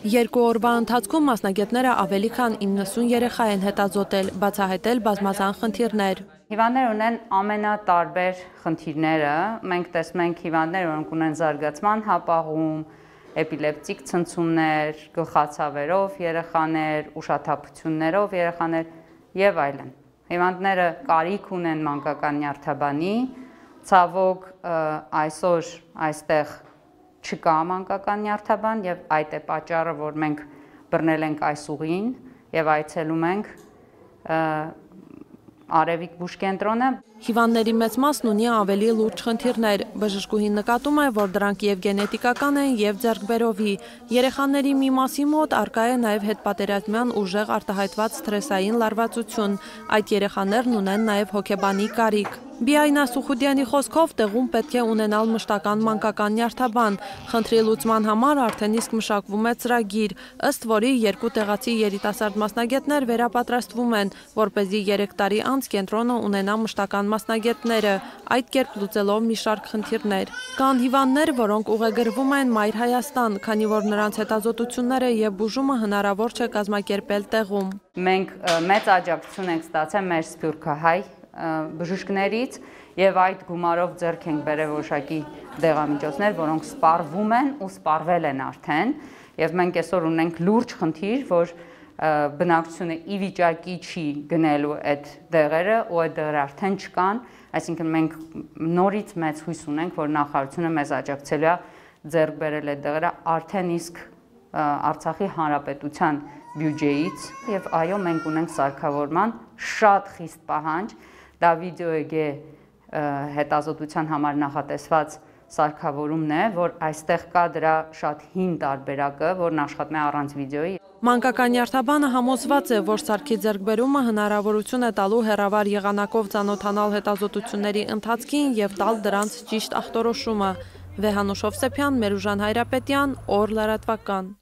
Երկու օրվա ընթացքում մասնագետները ավելի քան 90 երեխա են հետազոտել, բացահայտել բազմազան խնդիրներ։ Հիվանդներ ունեն ամենատարբեր խնդիրները, մենք տեսնում ենք հիվանդներ, որոնք ունեն զարգացման հապաղում, էպիլեպտիկ ցնցումներ, գլխացավերով երեխաներ, ուշաթափություններով երեխաներ եւ այլն։ Հիվանդները կարիք ունեն մանկական նյարդաբանի, ցավոք այսօր այստեղ չկա մանկական նյարդաբան եւ այդ է պատճառը, որ մենք բռնել ենք այս ուղին եւ այցելում ենք Արևիկ բուժկենտրոնը։ Հիվանդների մեծ մասն ունի ավելի լուրջ խնդիրներ։ Բժշկուհին նկատում է, որ դրանք եւ գենետիկական են եւ ձեռքբերովի։ Երեխաների մի մասի մոտ առկա է նաեւ հետպատերազմյան ուժեղ արտահայտված սթրեսային լարվածություն։ Այդ երեխաներն ունեն նաեւ հոգեբանի կարիք։ Բիայնա Սուխուդյանի խոսքով տեղում պետք է ունենալ մշտական մանկական նյարդաբան։ Խնդրի լուծման համար արդեն իսկ մշակվում է ծրագիր, ըստ որի երկու տեղացի երիտասարդ մասնագետներ վերապատրաստվում են, որպեսզի 3 տարի անց կենտրոնը ունենա մշտական մասնագետները, այդ կերպ լուծելով մի շարք խնդիրներ։ Կան հիվանդներ, որոնք ուղեգրվում են Մայր Հայաստան, քանի որ նրանց հետազոտությունները եւ բուժումը հնարավոր չէ կազմակերպել տեղում։ Մենք մեծ աջակցություն ենք ստացել մեր սփյուռքահայ բժիշկներից եւ այդ գումարով ձեռք ենք բերել որոշակի դեղամիջոցներ, որոնք սպառվում են ու սպառվել են արդեն եւ մենք այսօր ունենք լուրջ խնդիր, որ բնակչությունը ի վիճակի չի գնելու այդ դեղերը ու այդ դեղերը արդեն չկան, այսինքն մենք նորից մեծ հույս ունենք, որ նախարարությունը մեզ աջակցելու է ձեռք բերել այդ դեղերը արդեն իսկ Արցախի հանրապետության բյուջեից եւ այո մենք ունենք սարքավորման շատ խիստ պահանջ, դա վիդեոեգե հետազոտության համար նախատեսված սարքավորումն է, որ այստեղ կա դրա շատ հին տարբերակը, որն աշխատում է առանց վիդեոյի։ Մանկական նյարդաբանը համոզված է, որ սարքի ձեռքբերումը հնարավորություն է տալու հեռավար եղանակով ծանոթանալ հետազոտությունների ընթացքին եւ տալ դրանց ճիշտ ախտորոշումը։ Վեհանուշ Հովսեփյան, Մերուժան Հայրապետյան, Օր լրատվական։